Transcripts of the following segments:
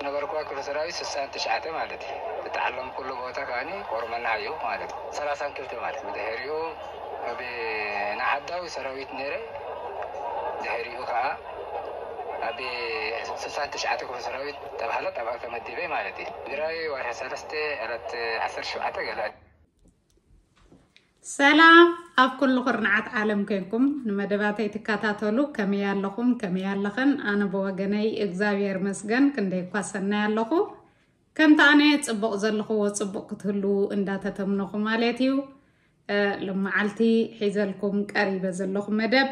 ነበርኩዋ ክፍለ ሰራዊት ስሳን ትሽዓተ ማለት እዩ። ዝተዓለምኩሉ ቦታ ከዓኒ ቆርመና እዩ ማለት እዩ። ሰላሳን ክልተ ማለት እዩ። ብድሕሪኡ ኣብ ንዓዳዊ ሰራዊት ነይረ። ድሕሪኡ ከዓ ኣብ ስሳን ትሽዓተ ክፍለ ሰራዊት ተባህለት ኣብኣ ተመዲበ ማለት እዩ። ትግራይ ወርሒ ሰለስተ ዕለት ዓሰርተ ሸውዓተ ገለ። ሰላም ኣብ ኩሉ ኩርናዓት ዓለም ኮንኩም ንመደባተይ ትከታተሉ ከመይ ኣለኹም? ከመይ ኣለኽን? ኣነ ብወገነይ እግዚኣብሔር መስገን ክንደይ እኳ ሰናይ ኣለኹ። ከምቲ ኣነ ጽቡቕ ዘለኽዎ ጽቡቕ ክትህልዉ እንዳተተምነኹ ማለት እዩ። እ፣ ሎመዓልቲ ሒዘልኩም ቀሪበ ዘለኹ መደብ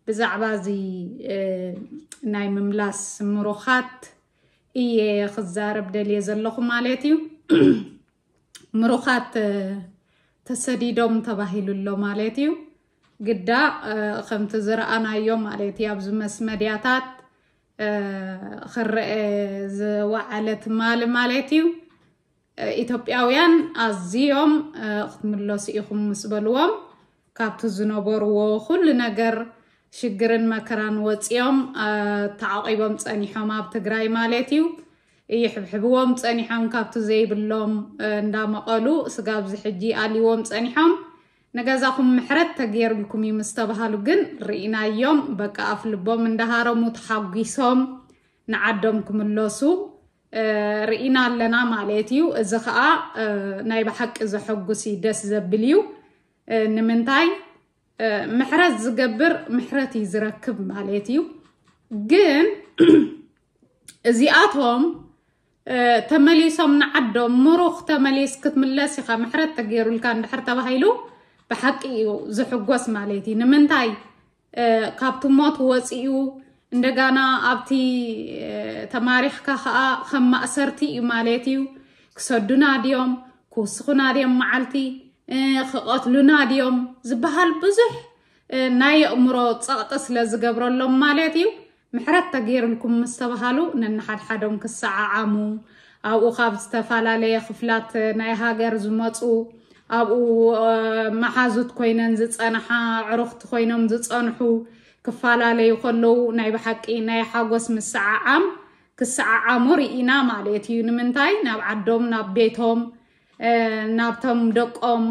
ብዛዕባ እዚ፣ እ፣ ናይ ምምላስ ምሩኻት እየ ክዛረብ ደልየ ዘለኹ ማለት እዩ። ምሩኻት፣ እ፣ ተሰዲዶም ተባሂሉ ኣሎ ማለት እዩ። ግዳ፣ እ፣ ከምቲ ዝረኣናዮ ማለት እዩ ኣብዚ መስ መድያታት፣ እ፣ ክረአ ዝወዓለ ትማሊ ማለት እዩ። እ፣ ኢትዮጵያውያን ኣዝዮም፣ እ፣ ክትምለሱ ኢኹም ምስ በልዎም ካብቲ ዝነበርዎ ኩሉ ነገር ሽግርን መከራን ወፂኦም፣ እ፣ ተዓቂቦም ፀኒሖም ኣብ ትግራይ ማለት እዩ። ይሕብሕብዎም ፀኒሖም ካብቲ ዘይብሎም፣ እ፣ እንዳመቐሉ ስጋብ ዝሕጂ ኣልዎም ፀኒሖም። ንገዛኹም ምሕረት ተገይሩልኩም እዩ ምስ ተባሃሉ ግን ርኢናዮም በቃ ኣፍ ልቦም እንዳሃረሙ ተሓጒሶም ንዓዶም ክምለሱ፣ እ፣ ርኢና ኣለና ማለት እዩ። እዚ ከዓ፣ እ፣ ናይ ብሓቂ ዘሐጉስ እዩ፣ ደስ ዘብል እዩ። እ፣ ንምንታይ፣ እ፣ ምሕረት ዝገብር ምሕረት እዩ ዝረክብ ማለት እዩ። ግን እዚኣቶም፣ እ፣ ተመሊሶም ንዓዶም ምሩኽ ተመሊስ ክትምለስ ኢኻ ምሕረት ተገይሩልካ እንድሕር ተባሂሉ ብሓቂ እዩ ዝሕጎስ ማለት እዩ። ንምንታይ፣ እ፣ ካብቲ ሞት ወፂኡ እንደጋና ኣብቲ፣ እ፣ ተማሪኽካ ከዓ ከም ማእሰርቲ እዩ ማለት እዩ። ክሰዱና ድዮም፣ ክውስኹና ድዮም መዓልቲ፣ እ፣ ክቐትሉና ድዮም ዝበሃል ብዙሕ፣ እ፣ ናይ ኣእምሮ ፀቕጢ ስለ ዝገብረሎም ማለት እዩ። ምሕረት ተገይሩልኩም ምስ ተባሃሉ ነንሓድሓዶም ክሰዓዓሙ፣ ኣብኡ ካብ ዝተፈላለየ ክፍላት ናይ ሃገር ዝመፁ፣ ኣብኡ፣ እ፣ መሓዙት ኮይነን ዝፀንሓ፣ ኣዕሩኽቲ ኮይኖም ዝፀንሑ ክፈላለዩ ከለዉ ናይ ብሓቂ ናይ ሓጎስ ምስዓዓም ክሰዓዓሙ ርኢና ማለት እዩ። ንምንታይ? ናብ ዓዶም፣ ናብ ቤቶም፣ እ፣ ናብቶም ደቆም፣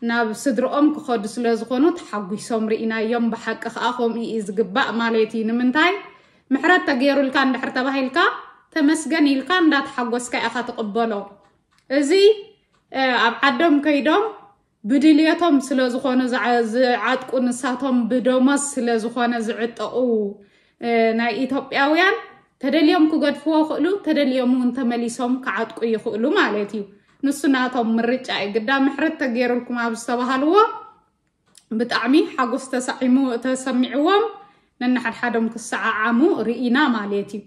ናብ ስድርኦም ክኸዱ ስለ ዝኾኑ ተሓጒሶም ርኢናዮም። ብሓቂ ከዓ ከምኡ እዩ ዝግባእ ማለት እዩ። ንምንታይ? ምሕረት ተገይሩልካ እንድሕር ተባሂልካ ተመስገን ኢልካ እንዳተሓጎስካ ኢኻ ትቕበሎ። እዚ፣ እ፣ ኣብ ዓዶም ከይዶም ብድልየቶም ስለ ዝኾኑ ዝዓ-፣ ዝዓጥቁ፣ ንሳቶም ብደሞዝ ስለ ዝኾነ ዝዕጠቑ፣ እ፣ ናይ ኢትዮጵያውያን ተደልዮም ክገድፍዎ ይኽእሉ፣ ተደልዮም እውን ተመሊሶም ክዓጥቁ ይኽእሉ ማለት እዩ። ንሱ ናቶም ምርጫ እዩ። ግዳ ምሕረት ተገይሩልኩም ኣብ ዝተባሃልዎ ብጣዕሚ ሓጎስ ተሳዒሙ፣ ተሰሚዕዎም ነንሓድሓዶም ክሰዓዓሙ ርኢና ማለት እዩ።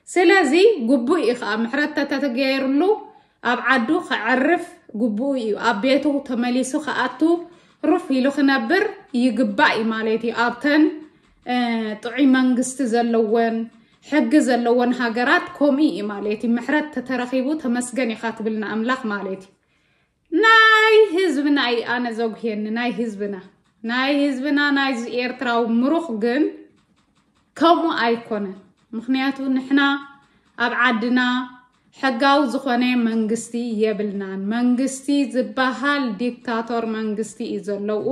ስለዚ ግቡእ እዩ ከዓ ምሕረት ተተገይሩሉ ኣብ ዓዱ ከዕርፍ ግቡእ እዩ። ኣብ ቤቱ ተመሊሱ ክኣቱ ሩፍ ኢሉ ክነብር ይግባእ እዩ ማለት እዩ። ኣብተን፣ እ፣ ጥዑይ መንግስቲ ዘለወን ሕጊ ዘለወን ሃገራት ከምኡ እዩ ማለት እዩ። ምሕረት ተተረኺቡ ተመስገን ኢኻ ትብል ንኣምላኽ ማለት እዩ። ናይ ህዝብና እዩ ኣነ ዘጉህየኒ፣ ናይ ህዝብና፣ ናይ ህዝብና፣ ናይዚ ኤርትራዊ ምሩኽ ግን ከምኡ ኣይኮነን። ምኽንያቱ ንሕና ኣብ ዓድና ሕጋዊ ዝኾነ መንግስቲ የብልናን። መንግስቲ ዝበሃል ዲክታቶር መንግስቲ እዩ ዘለዉ።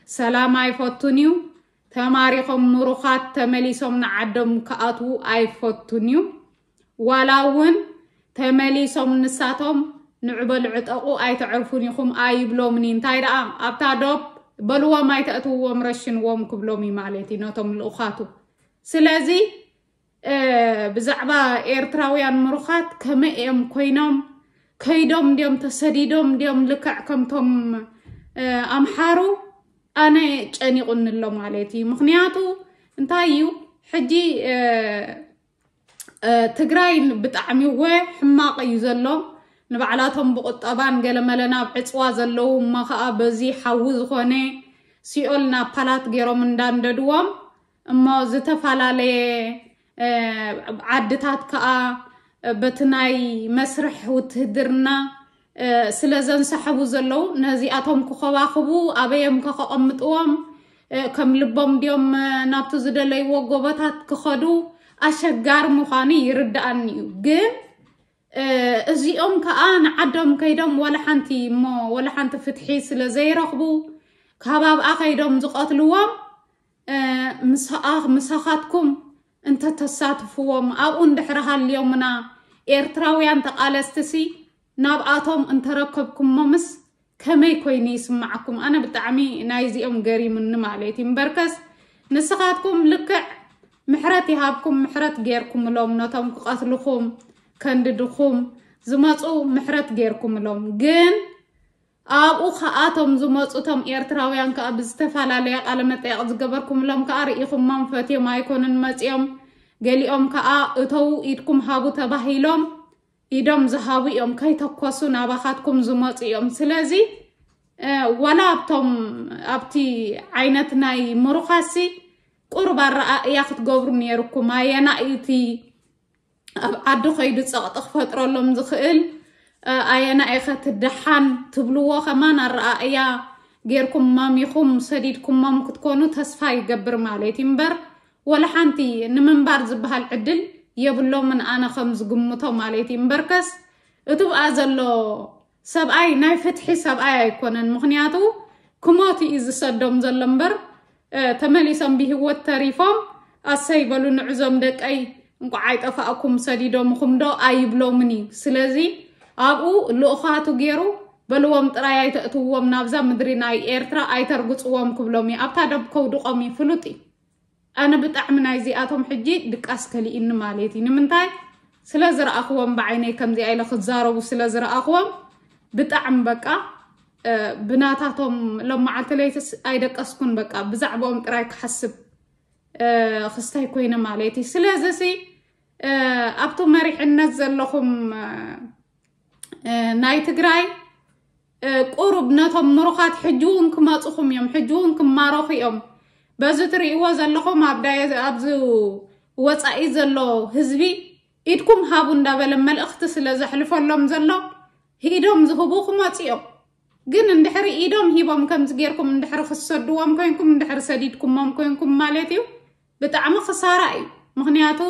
ሰላም ኣይፈቱን እዩ። ተማሪኾም ምሩኻት ተመሊሶም ንዓዶም ክኣትዉ ኣይፈቱን እዩ። ዋላ እውን ተመሊሶም ንሳቶም ንዑ በሉ ዕጠቑ ኣይተዕርፉን ኢኹም ኣይብሎምን እዩ። እንታይ ደኣ ኣብታ ዶብ በልዎም ኣይተእትውዎም ረሽንዎም ክብሎም እዩ ማለት እዩ ነቶም ልኡኻቱ። ስለዚ፣ እ፣ ብዛዕባ ኤርትራውያን ምሩኻት ከመይ እዮም ኮይኖም? ከይዶም እንድዮም ተሰዲዶም እንድዮም ልክዕ ከምቶም፣ እ፣ ኣምሓሩ? ኣነ ጨኒቑኒ ኣሎ ማለት እዩ። ምኽንያቱ እንታይ እዩ? ሕጂ፣ እ፣ እ፣ ትግራይ ብጣዕሚ ወ ሕማቕ እዩ ዘሎ። ንባዕላቶም ብቁጠባን ገለመለ ናብ ዕፅዋ ዘለዉ እሞ ከዓ በዚ ሓዊ ዝኾነ ሲኦል ናብ ፓላት ገይሮም እንዳንደድዎም እሞ ዝተፈላለየ፣ እ፣ ዓድታት ከዓ በቲ ናይ መስርሕ ውትህድርና፣ እ፣ ስለ ዘንሰሐቡ ዘለዉ ነዚኣቶም ክኸባኽቡ ኣበዮም ከቐምጥዎም፣ እ፣ ከም ልቦም ድዮም፣ እ፣ ናብቲ ዝደለይዎ ጎቦታት ክኸዱ ኣሸጋሪ ምዃኑ ይርድኣኒ እዩ። ግን እዚኦም ከዓ ንዓዶም ከይዶም ወላ ሓንቲ እሞ ወላ ሓንቲ ፍትሒ ስለ ዘይረኽቡ ካብ ኣብኣ ከይዶም ዝቐትልዎም፣ ምሳኻትኩም እንተተሳትፍዎም ኣብኡ እንድሕሪ ሃልዮምና ኤርትራውያን ተቓለስቲ ሲ ናብኣቶም እንተረከብኩሞምስ ከመይ ኮይኑ ይስማዓኩም? ኣነ ብጣዕሚ ናይዚኦም ገሪሙኒ ማለት እዩ። እምበርከስ ንስኻትኩም ልክዕ ምሕረት ይሃብኩም፣ ምሕረት ጌርኩምሎም፣ ነቶም ክቐትልኹም ከንድድኹም ዝመፁ ምሕረት ጌርኩምሎም። ግን ኣብኡ ከኣቶም ዝመፁ ቶም ኤርትራውያን ከኣ ብዝተፈላለየ ቃለ መጠየቕ ዝገበርኩምሎም ከኣ ርኢኹሞም ፈትዮም ኣይኮኑን መፂኦም። ገሊኦም ከኣ እተው ኢድኩም ሃቡ ተባሂሎም ኢዶም ዝሃቡ እዮም፣ ከይተኮሱ ናባኻትኩም ዝመፁ እዮም። ስለዚ ዋላ ኣብቶም ኣብቲ ዓይነት ናይ ምሩኻሲ ቁሩብ ኣረኣእያ ክትገብሩ ነይርኩም። ኣየናይ እቲ ኣብ ዓዲ ከይዱ ፀቕጢ ክፈጥረሎም ዝኽእል፣ ኣየናይ ከ ትደሓን ትብልዎ ከማን ኣረኣእያ ጌርኩም ማሚኹም ሰዲድኩሞም ክትኮኑ ተስፋ ይገብር ማለት እዩ። እምበር ወላ ሓንቲ ንምንባር ዝበሃል ዕድል የብሎምን፣ ኣነ ከም ዝግምቶ ማለት እዩ። እምበርከስ እቲ ብኣ ዘሎ ሰብኣይ ናይ ፍትሒ ሰብኣይ ኣይኮነን። ምኽንያቱ ክሞት እዩ ዝሰዶም ዘሎ እምበር ተመሊሶም ብህይወት ተሪፎም ኣሰይ በሉ ንዕዞም ደቀይ እንቋዕ ኣይጠፋእኩም ሰዲዶምኹም ዶ ኣይብሎምን እዩ። ስለዚ ኣብኡ ልኡኻቱ ገይሩ በልዎም ጥራይ ኣይተእትውዎም ናብዛ ምድሪ ናይ ኤርትራ ኣይተርግፅዎም ክብሎም እዩ። ኣብታ ደብ ከውድቖም እዩ ፍሉጥ እዩ። ኣነ ብጣዕሚ ናይዚኣቶም ሕጂ ድቃስ ከሊእኒ ማለት እዩ። ንምንታይ ስለ ዝረኣኽዎም ብዓይነይ ከምዚኣ ኢለ ክዛረቡ ስለ ዝረኣኽዎም ብጣዕሚ በቃ ብናታቶም ሎም መዓልቲ ለይትስ ኣይደቀስኩን። በቃ ብዛዕባኦም ጥራይ ክሓስብ ክስታይ ኮይነ ማለት እዩ። ስለዚ ሲ ኣብቲ መሪሕነት ዘለኹም ናይ ትግራይ ቁሩብ ነቶም ምሩኻት ሕጂ እውን ክመፁኹም እዮም፣ ሕጂ እውን ክማረኹ እዮም። በዚ ትርእይዎ ዘለኹም ኣብዚ ወፃኢ ዘሎ ህዝቢ ኢድኩም ሃቡ እንዳበለ መልእኽቲ ስለ ዘሕልፈሎም ዘሎ ኢዶም ዝህቡ ክመፁ እዮም። ግን እንድሕሪ ኢዶም ሂቦም ከምዚ ጌርኩም እንድሕሪ ክሰድዎም ኮይንኩም እንድሕሪ ሰዲድኩሞም ኮይንኩም ማለት እዩ ብጣዕሚ ክሳራ እዩ። ምኽንያቱ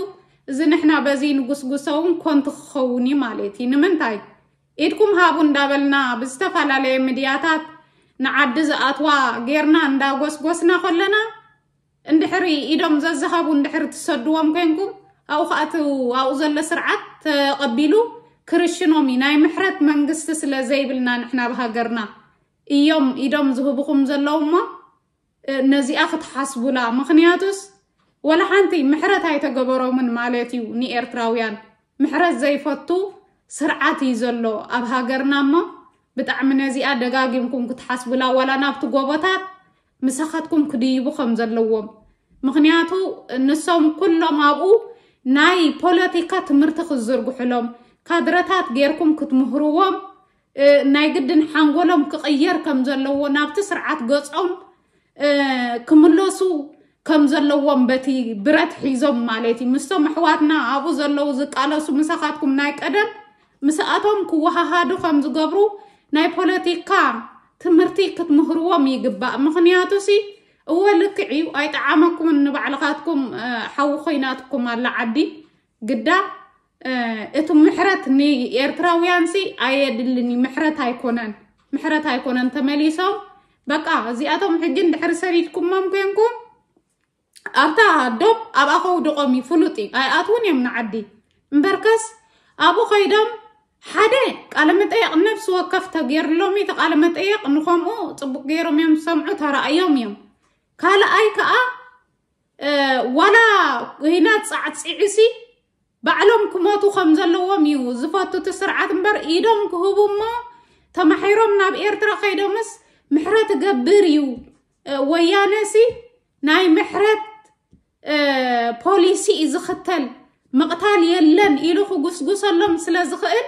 እዚ ንሕና በዚ ንጉስጉሰውን ኮንቱ ክኸውን እዩ ማለት እዩ። ንምንታይ ኢድኩም ሃቡ እንዳበልና ብዝተፈላለየ ሚድያታት ንዓዲ ዝኣትዋ ጌርና እንዳጎስጎስና ከለና እንድሕሪ ኢዶም ዘዝሃቡ እንድሕሪ ትሰድዎም ኮይንኩም ኣብኡ ከኣትው ኣብኡ ዘሎ ስርዓት ተቐቢሉ ክርሽኖም እዩ። ናይ ምሕረት መንግስቲ ስለ ዘይብልና ንሕና ብሃገርና እዮም ኢዶም ዝህብኹም ዘለዉ እሞ ነዚኣ ክትሓስቡላ። ምኽንያቱስ ወላ ሓንቲ ምሕረት ኣይተገበሮምን ማለት እዩ ንኤርትራውያን። ምሕረት ዘይፈቱ ስርዓት እዩ ዘሎ ኣብ ሃገርና እሞ ብጣዕሚ ነዚኣ ደጋጊምኩም ክትሓስቡላ ዋላ ናብቲ ጎቦታት ምሳኻትኩም ክድይቡ ከም ዘለዎም። ምኽንያቱ ንሶም ኩሎም ኣብኡ ናይ ፖለቲካ ትምህርቲ ክዝርግሕሎም ካድረታት ጌርኩም ክትምህርዎም ናይ ግድን ሓንጎሎም ክቕየር ከም ዘለዎ ናብቲ ስርዓት ገጾም ክምለሱ ከም ዘለዎም በቲ ብረት ሒዞም ማለት እዩ። ምስቶም ኣሕዋትና ኣብኡ ዘለዉ ዝቃለሱ ምሳኻትኩም ናይ ቀደም ምስኣቶም ክወሃሃዱ ከም ዝገብሩ ናይ ፖለቲካ ትምህርቲ ክትምህርዎም ይግባእ። ምኽንያቱ ሲ እወ ልክዕ እዩ ኣይጠዓመኩምን ንባዕልኻትኩም ሓዊ ኮይናትኩም ኣላ ዓዲ ግዳ እቲ ምሕረት ንኤርትራውያን ሲ ኣየድልን እዩ። ምሕረት ኣይኮነን ምሕረት ኣይኮነን ተመሊሶም በቃ እዚኣቶም ሕጂ እንድሕሪ ሰዲድኩሞም ኮንኩም ኣብታ ዶብ ኣብኣ ከውድቖም እዩ ፍሉጥ እዩ። ኣይኣትውን እዮም ንዓዲ እምበርከስ ኣብኡ ከይዶም ሓደ ቃለ መጠየቕ ነብሲ ወከፍ ተገይርሎም እዩ። እቲ ቃለ መጠየቕ ንኸምኡ ፅቡቅ ገይሮም እዮም ዝሰምዑ ተረኣዮም እዮም። ካልኣይ ከዓ ዋላ ኩናት ፃዕፂዕሲ ባዕሎም ክሞቱ ከም ዘለዎም እዩ ዝፈቱ እቲ ስርዓት እምበር ኢዶም ክህቡ እሞ ተማሒሮም ናብ ኤርትራ ከይዶምስ ምሕረት እገብር እዩ። ወያነሲ ናይ ምሕረት ፖሊሲ እዩ ዝኽተል። ምቕታል የለን ኢሉ ክጉስጉሰሎም ስለ ዝኽእል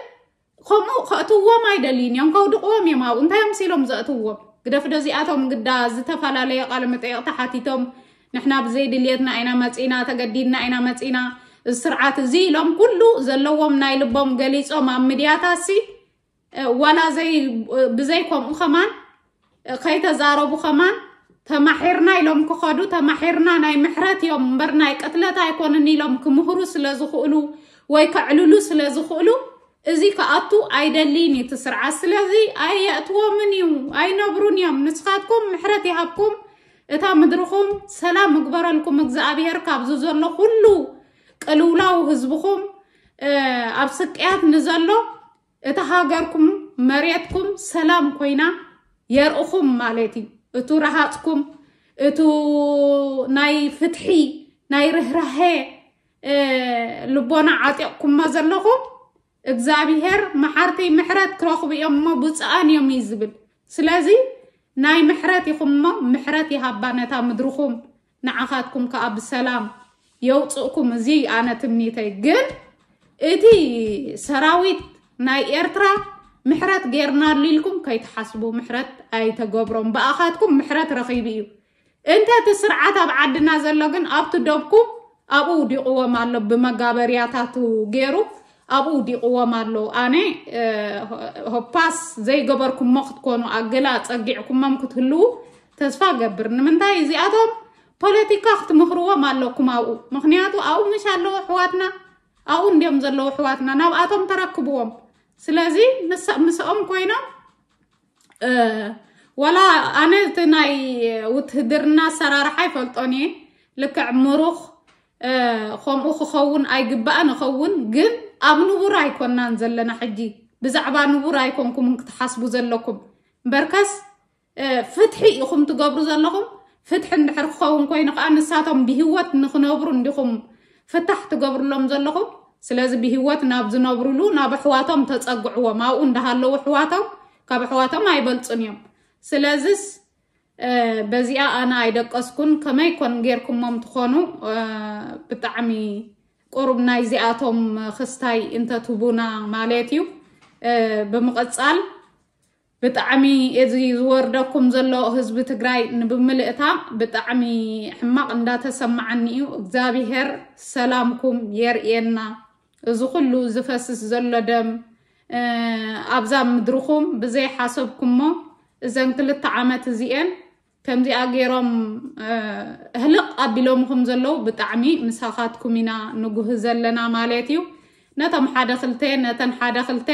ከምኡ ከእትዎም ኣይደልዩን እዮም። ከውድቕዎም እዮም ኣብኡ እንታይ እዮም ሲሎም ዘእትዎም ግደፍ። ደዚኣቶም ግዳ ዝተፈላለየ ቃለ መጠየቕ ተሓቲቶም ንሕና ብዘይ ድልየትና ኢና መፂና ተገዲድና ኢና መፂና እዚ ስርዓት እዚ ኢሎም ኩሉ ዘለዎም ናይ ልቦም ገሊፆም ኣብ ሚድያታሲ ዋላ ዘይ ብዘይ ከምኡ ከማን ከይተዛረቡ ከማን ተማሒርና ኢሎም ክኸዱ፣ ተማሒርና ናይ ምሕረት እዮም እምበር ናይ ቅትለት ኣይኮንን ኢሎም ክምህሩ ስለ ዝኽእሉ ወይ ከዕልሉ ስለ ዝኽእሉ፣ እዚ ክኣቱ ኣይደልይን እዩ እቲ ስርዓት። ስለዚ ኣየእትዎምን እዩ፣ ኣይነብሩን እዮም። ንስኻትኩም ምሕረት ይሃብኩም፣ እታ ምድርኹም ሰላም እግበረልኩም እግዚኣብሔር። ካብዚ ዘሎ ኩሉ ቅልውላው ህዝብኹም ኣብ ስቅያት ንዘሎ እታ ሃገርኩም መሬትኩም ሰላም ኮይና የርእኹም ማለት እዩ። እቱ ረሃፅኩም፣ እቱ ናይ ፍትሒ ናይ ርህራሄ ልቦና ዓጢቕኩሞ ዘለኹም እግዚኣብሔር መሓርቲ ምሕረት ክረኽቡ እዮም እሞ ብፁዓን እዮም እዩ ዝብል። ስለዚ ናይ ምሕረት ኢኹም እሞ ምሕረት ይሃባ ነታ ምድርኹም፣ ንዓኻትኩም ከዓ ብሰላም የውፅእኩም። እዚ ኣነ ትምኒተይ። ግን እቲ ሰራዊት ናይ ኤርትራ ምሕረት ጌርናሉ ኢልኩም ከይትሓስቡ፣ ምሕረት ኣይተገብሮም። ብኣኻትኩም ምሕረት ረኺቡ እዩ። እንተ እቲ ስርዓት ኣብ ዓድና ዘሎ ግን ኣብቲ ደብኩም ኣብኡ ውዲቕዎም ኣሎ፣ ብመጋበርያታቱ ገይሩ ኣብኡ ውዲቕዎም ኣሎ። ኣነ ሆፓስ ዘይገበርኩሞ ክትኮኑ ኣገላ ጸጊዕኩሞም ክትህልዉ ተስፋ ገብር። ንምንታይ እዚኣቶም ፖለቲካ ክትምህርዎም ኣለኩም ኣብኡ። ምኽንያቱ ኣብኡ ምሽ ኣለዉ ኣሕዋትና፣ ኣብኡ እንዲዮም ዘለዉ ኣሕዋትና፣ ናብኣቶም ተረክብዎም። ስለዚ ምስ- ምስኦም ኮይኖም እ፣ ዋላ ኣነ እቲ ናይ ውትህድርና ኣሰራርሓ ኣይፈልጦን እየ። ልክዕ ምሩኽ እ፣ ከምኡ ክኸውን ኣይግባእን ይኸውን፣ ግን ኣብ ንቡር ኣይኮናን ዘለና ሕጂ። ብዛዕባ ንቡር ኣይኮንኩምን ክትሓስቡ ዘለኩም። እምበርከስ እ፣ ፍትሒ ኢኹም ትገብሩ ዘለኹም። ፍትሒ እንድሕር ክኸውን ኮይኑ ከዓ ንሳቶም ብህይወት ንክነብሩ እንዲኹም ፍታሕ ትገብርሎም ዘለኹም። ስለዚ ብህይወት ናብ ዝነብሩሉ ናብ ኣሕዋቶም ተጸግዕዎም። ኣብኡ እንዳሃለዉ ኣሕዋቶም ካብ ኣሕዋቶም ኣይበልጹን እዮም። ስለዚስ እ፣ በዚኣ ኣነ ኣይደቀስኩን። ከመይ ኮን ጌርኩሞም ትኾኑ? እ፣ ብጣዕሚ ቁሩብ ናይዚኣቶም ክስታይ እንተትቡና ማለት እዩ። እ፣ ብምቕጻል ብጣዕሚ እዚ ዝወርደኩም ዘሎ ህዝቢ ትግራይ ንብምልእታ ብጣዕሚ ሕማቕ እንዳተሰማዓኒ እዩ። እግዚኣብሄር ሰላምኩም የርእየና። እዚ ኩሉ ዝፈስስ ዘሎ ደም እ፣ ኣብዛ ምድርኹም ብዘይሓሰብኩሞ እዘን ክልተ ዓመት እዚኤን ከምዚኣ ገይሮም እ፣ ህልቕ ኣቢሎምኹም ዘለዉ ብጣዕሚ ምሳኻትኩም ኢና ንጉህ ዘለና ማለት እዩ። ነቶም ሓደ ክልተ ነተን ሓደ ክልተ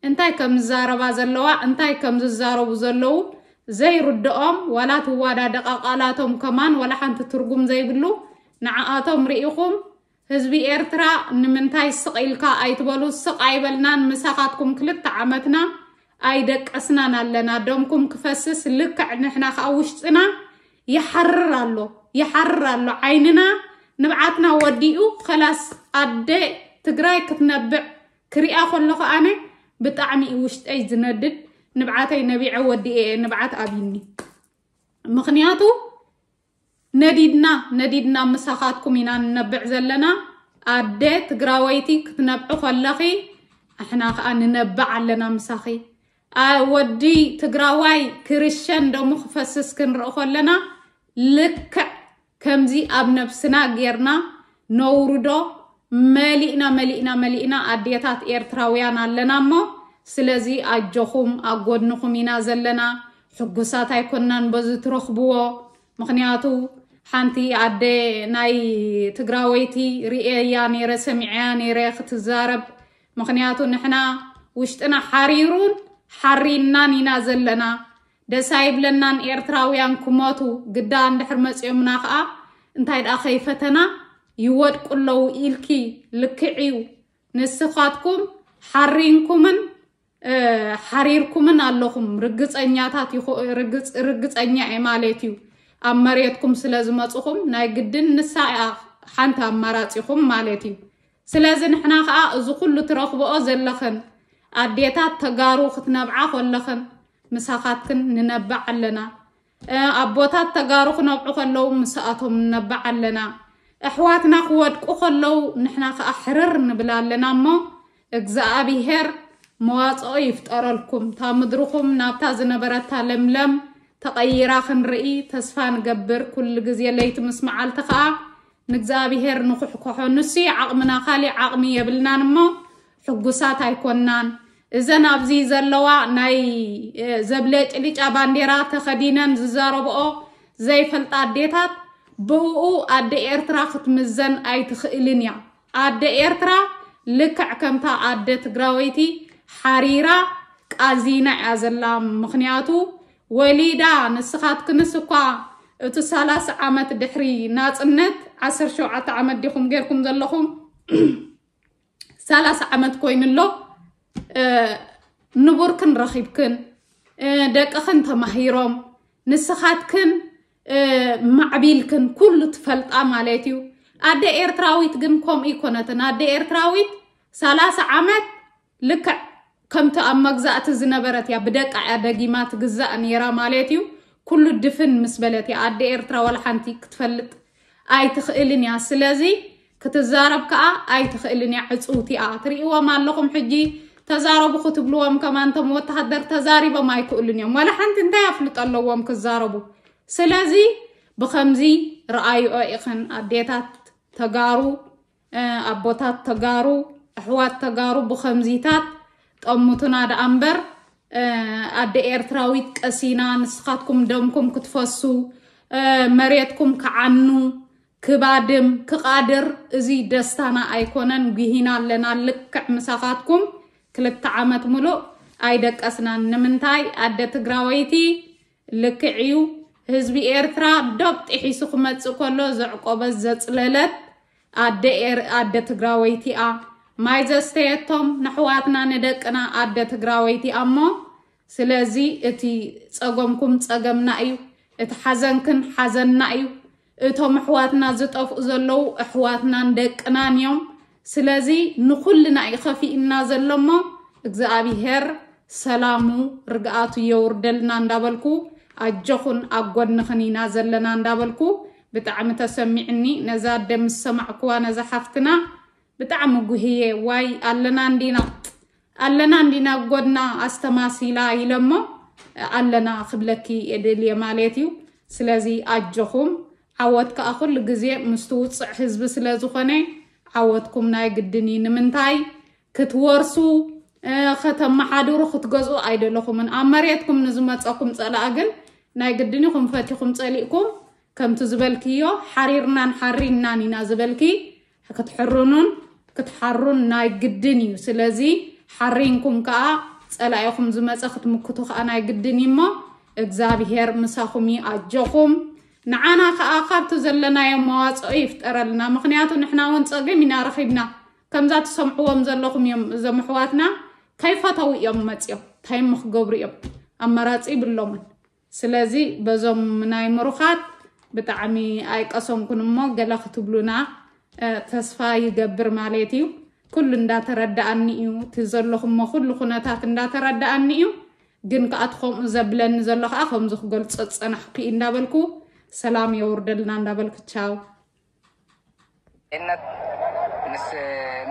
እንታይ ከም ዝዛረባ ዘለዋ እንታይ ከም ዝዛረቡ ዘለዉ ዘይርድኦም ዋላ ትዋዳደቓ ቃላቶም ከማን ዋላ ሓንቲ ትርጉም ዘይብሉ ንዓኣቶም ርኢኹም ህዝቢ ኤርትራ ንምንታይ ስቕ ኢልካ ኣይትበሉ? ስቕ ኣይበልናን ምሳኻትኩም ክልተ ዓመትና ኣይደቀስናን ኣለና። ደምኩም ክፈስስ ልክዕ ንሕና ከዓ ውሽጥና ይሓርር ኣሎ ይሓርር ኣሎ ዓይንና ንብዓትና ወዲኡ ከላስ ኣደ ትግራይ ክትነብዕ ክሪኣ ከለኹ ኣነ ብጣዕሚ እዩ ውሽጠይ ዝነድድ። ንብዓተይ ነቢዐ ወዲኤ እየ ንብዓት ኣብይኒ። ምኽንያቱ ነዲድና ነዲድና ምሳኻትኩም ኢና ንነብዕ ዘለና። ኣደ ትግራወይቲ ክትነብዒ ከለኺ ኣሕና ከዓ ንነብዕ ኣለና ምሳኺ። ኣ- ወዲ ትግራዋይ ክርሸን ደሙ ክፈስስ ክንርኢ ከለና ልክዕ ከምዚ ኣብ ነብስና ጌርና ነውርዶ። መሊእና መሊእና መሊእና ኣዴታት ኤርትራውያን ኣለና እሞ ስለዚ ኣጆኹም ኣብ ጎድንኹም ኢና ዘለና። ሕጉሳት ኣይኮናን በዚ ትረኽብዎ። ምኽንያቱ ሓንቲ ኣደ ናይ ትግራወይቲ ርእየያ ነይረ ሰሚዐያ ነይረ ክትዛረብ። ምኽንያቱ ንሕና ውሽጥና ሓሪሩን ሓሪናን ኢና ዘለና። ደስ ኣይብለናን ኤርትራውያን ክሞቱ ግዳ እንድሕር መፂኦምና ከዓ እንታይ ደኣ ከይፈተና ይወድቁ ኣለዉ ኢልኪ ልክዕ እዩ። ንስኻትኩም ሓሪንኩምን ሓሪርኩምን ኣለኹም ርግፀኛታት ርግፀኛ እየ ማለት እዩ። ኣብ መሬትኩም ስለ ዝመፅኹም ናይ ግድን ንሳ እያ ሓንቲ ኣማራፂኹም ማለት እዩ። ስለዚ ንሕና ከዓ እዚ ኩሉ ትረኽብኦ ዘለኽን ኣዴታት ተጋሩ ክትነብዓ ከለኽን ምሳኻትክን ንነብዕ ኣለና። ኣቦታት ተጋሩ ክነብዑ ከለዉ ምስኣቶም ንነብዕ ኣለና። ኣሕዋትና ክወድቁ ከለዉ ንሕና ከዓ ሕርር ንብል ኣለና እሞ እግዚኣብሄር መዋፅኦ ይፍጠረልኩም። እታ ምድርኹም ናብታ ዝነበረታ ለምለም ተቐይራ ክንርኢ ተስፋ ንገብር። ኩሉ ግዜ ለይቲ ምስ መዓልቲ ከዓ ንእግዚኣብሄር ንኩሕኩሖ። ንሱ ዓቕምና ካሊእ ዓቕሚ የብልናን እሞ ሕጉሳት ኣይኮናን። እዘን ኣብዚ ዘለዋ ናይ ዘብለጭልጫ ባንዴራ ተኸዲነን ዝዛረብኦ ዘይፈልጣ ኣዴታት ብእኡ ኣደ ኤርትራ ክትምዘን ኣይትኽእልን እያ። ኣደ ኤርትራ ልክዕ ከምታ ኣደ ትግራወይቲ ሓሪራ ቃዚና እያ ዘላ። ምኽንያቱ ወሊዳ ንስኻትክንስ እኳ እቲ ሰላሳ ዓመት ድሕሪ ናጽነት ዓሰርተ ሸውዓተ ዓመት ዲኹም ጌርኩም ዘለኹም ሰላሳ ዓመት ኮይኑ ኣሎ። ንቡርክን ረኺብክን ደቅኽን ተማሂሮም ንስኻትክን ማዕቢልክን ኩሉ ትፈልጣ ማለት እዩ። ኣደ ኤርትራዊት ግን ከምኡ ይኮነትን። ኣደ ኤርትራዊት ሰላሳ ዓመት ልክዕ ከምቲ ኣብ መግዛእቲ ዝነበረት እያ። ብደቃ እያ ደጊማ ትግዛእ ነይራ ማለት እዩ። ኩሉ ድፍን ምስ በለት እያ። ኣደ ኤርትራ ዋላ ሓንቲ ክትፈልጥ ኣይትኽእልን እያ። ስለዚ ክትዛረብ ከዓ ኣይትኽእልን እያ። ዕፅውቲ እያ። ትርእይዎም ኣለኹም ሕጂ ተዛረቡ ክትብልዎም ከማን እቶም ወተሃደር ተዛሪቦም ኣይክእሉን እዮም። ዋላ ሓንቲ እንታይ ኣፍልጦ ኣለዎም ክዛረቡ? ስለዚ ብኸምዚ ረኣይኦ ኢኽን ኣዴታት ተጋሩ ኣቦታት ተጋሩ ኣሕዋት ተጋሩ ብኸምዚታት ጠሙቱና ደኣ እምበር ኣደ ኤርትራዊት ቀሲና ንስኻትኩም ደምኩም ክትፈሱ መሬትኩም ክዓኑ ክባድም ክቓድር እዚ ደስታና ኣይኮነን። ጉሂና ኣለና ልክዕ ምሳኻትኩም ክልተ ዓመት ሙሉእ ኣይደቀስናን። ንምንታይ ኣደ ትግራወይቲ ልክዕ እዩ። ህዝቢ ኤርትራ ዶብ ጥሒሱ ክመጽእ ከሎ ዘዕቆበት ዘጽለለት ኣደ ኤር ኣደ ትግራወይቲ እያ። ማይ ዘስተየቶም ንሕዋትና ንደቅና ኣደ ትግራወይቲ እያ እሞ ስለዚ እቲ ጸገምኩም ጸገምና እዩ፣ እቲ ሓዘንክን ሓዘንና እዩ። እቶም ኣሕዋትና ዝጠፍኡ ዘለዉ ኣሕዋትናን ደቅናን እዮም። ስለዚ ንኹልና እዩ ከፊእና ዘሎ እሞ እግዚኣብሄር ሰላሙ ርግኣቱ የውርደልና እንዳበልኩ ኣጆኹን ኣብ ጎድንኽን ኢና ዘለና እንዳበልኩ ብጣዕሚ ተሰሚዕኒ። ነዛ ኣደ ምስ ሰማዕኩዋ ነዛ ሓፍትና ብጣዕሚ ጉህየ ዋይ ኣለና እንዲና ኣለና እንዲና ጎድና ኣስተማሲላ ኢለሞ ኣለና ክብለኪ የድልየ ማለት እዩ። ስለዚ ኣጆኹም ዓወት ከዓ ኩሉ ግዜ ምስ ትውፅዕ ህዝቢ ስለ ዝኾነ ዓወትኩም ናይ ግድን እዩ። ንምንታይ ክትወርሱ ከተመሓድሩ ክትገዝኡ ኣይደለኹምን። ኣብ መሬትኩም ንዝመፀኩም ፀላእ ግን ናይ ግድን ኢኹም ፈቲኹም ፀሊእኩም ከምቲ ዝበልክዮ ሓሪርናን ሓሪንናን ኢና ዝበልኪ ክትሕርኑን ክትሓሩን ናይ ግድን እዩ። ስለዚ ሓሪንኩም ከዓ ፀላኢኹም ዝመፀ ክትምክቱ ከዓ ናይ ግድን እዩ እሞ እግዚኣብሄር ምሳኹም እዩ። ኣጆኹም ንዓና ከዓ ካብቲ ዘለናዮ መዋፅኦ ይፍጠረልና። ምክንያቱ ንሕና እውን ፀገም ኢና ረኺብና። ከምዛ ትሰምዕዎም ዘለኹም እዮም እዞም ኣሕዋትና ከይፈተው እዮም መፅዮም እንታይ ምክገብሩ እዮም ኣማራፂ ይብሎምን። ስለዚ በዞም ናይ ምሩኻት ብጣዕሚ ኣይቀሰንኩን እሞ ገለ ክትብሉና ተስፋ ይገብር ማለት እዩ። ኩሉ እንዳተረዳኣኒ እዩ እቲ ዘለኹሞ ኩሉ ኩነታት እንዳተረዳኣኒ እዩ። ግን ከዓ እቲ ከምኡ ዘብለኒ ዘሎ ከዓ ከምዚ ክገልፆ ዝፀናሕኩ እዩ እንዳበልኩ ሰላም የውርደልና እንዳበልኩ ቻው። ነት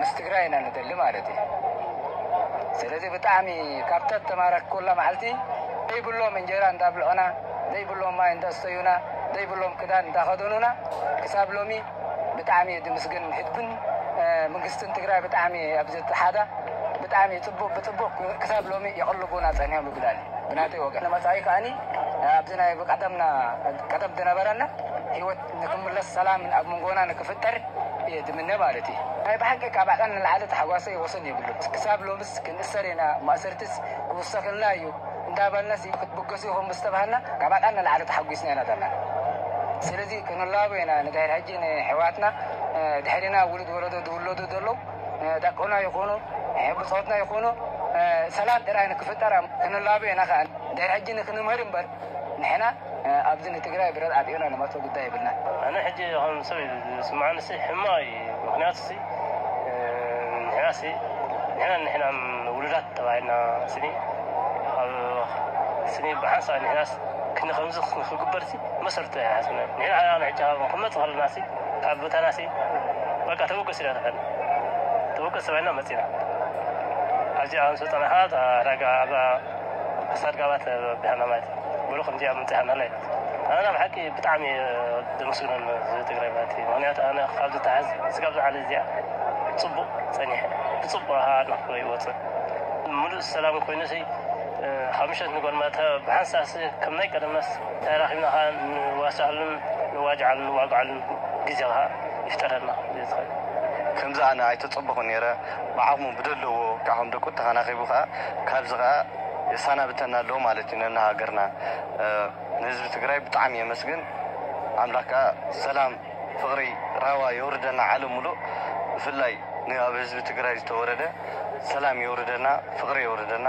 ምስ ትግራይ ኢና ንደሊ ማለት እዩ። ስለዚ ብጣዕሚ ካብታ ተማረክኩላ መዓልቲ ዘይብሎም እንጀራ እንዳብልዑና ዘይብሎም ማይ እንዳስተዩና ዘይብሎም ክዳን እንዳኸደኑና ክሳብ ሎሚ ብጣዕሚ ድምስግን ህዝብን መንግስትን ትግራይ ብጣዕሚ ኣብዚ ተሓዳ ብጣዕሚ ፅቡቅ ብፅቡቅ ክሳብ ሎሚ የቕልቡና ፀኒሖም ይብላል ብናተይ ወገን ንመፃኢ ከዓኒ ኣብዚ ናይ ቀደምና ቀደም ዝነበረና ህይወት ንክምለስ ሰላም ኣብ መንጎና ንክፍጠር እየ ዝምነ ማለት እዩ። ናይ ብሓቂ ካብ ዓቐን ንላዕሊ ተሓጓሰይ ወሰን የብሉን። ክሳብ ሎምስ ክንእሰር ኢና፣ ማእሰርትስ ክውሰኸልና እዩ እንዳበልናስ ክትብገሱ ኢኹም ምስ ተባሃልና ካብ ዓቐን ንላዕሊ ተሓጒስና ኢና ዘለና። ስለዚ ክንላቦ ኢና ንድሕር ሕጂ ንሕዋትና ድሕሪና ውሉድ ወለዶ ዝውለዱ ዘለዉ ደቅና ይኹኑ ብፆትና ይኹኑ ሰላም ጥራይ ንክፍጠር ክንላቦ ኢና ከዓ ድሕር ሕጂ ንክንምህር እምበር ንሕና ኣብዚ ንትግራይ ብረት ኣጥዮና ንመቶ ጉዳይ የብልና። ኣነ ሕጂ ከም ሰብ እዩ ዝስምዓኒ ሲ ሕማቕ እዩ። ምክንያቱ ሲ ንሕና ሲ ንሕና ንሕና ውሉዳት ተባሂልና ስኒ ኣብ ስኒ ብሓንሳእ ንሕናስ ክንኸምዚ ክግበር ሲ መሰርቱ ኣይሓስብና። ንሕና ሕጂ ክመፅ ከለና ሲ ካብ ቦታና ሲ በቃ ተበገስ ኢና ተፈል ተበገስ ተባሂልና መፂና ኣብዚ ኣንሶ ፀናሓ ዕዳጋ ኣብ ክሳድ ጋባት ብሃና ማለት ብሎ ከምዚኣ ምምፅእ ሃናላ ኢና ኣነ ብሓቂ ብጣዕሚ ደመስግኖን እዚ ትግራይ ማለት እዩ ምክንያቱ ኣነ ካብ ዝተሓዝ ስጋብ ዝዓለ እዚኣ ፅቡቅ ፀኒሐ ብፅቡቅ ኣድናክሎ ይወፅእ ሙሉእ ሰላም ኮይኑ ሲ ካብ ምሸት ንጎንመተ ብሓንሳስ ከም ናይ ቀደመስ ተራኺብና ኸዓ ንዋስዓሉን ንዋጅዓሉን ንዋግዓሉን ግዜ ኸዓ ይፍጠረልና። ከምዚ ኣነ ኣይተጸበኹ ነይረ። ብዓቕሙ ብደለዎ ከዓ ከም ደቁ ተኸናኺቡ ከዓ ካብዚ ከዓ የሳናብተና ኣለዎ ማለት እዩ። ነና ሃገርና ንህዝቢ ትግራይ ብጣዕሚ የመስግን። ኣምላክ ከዓ ሰላም ፍቕሪ ራዋ የውርደና ዓለም ሙሉእ። ብፍላይ ንኣብ ህዝቢ ትግራይ ዝተወረደ ሰላም የውርደና፣ ፍቕሪ የውርደና።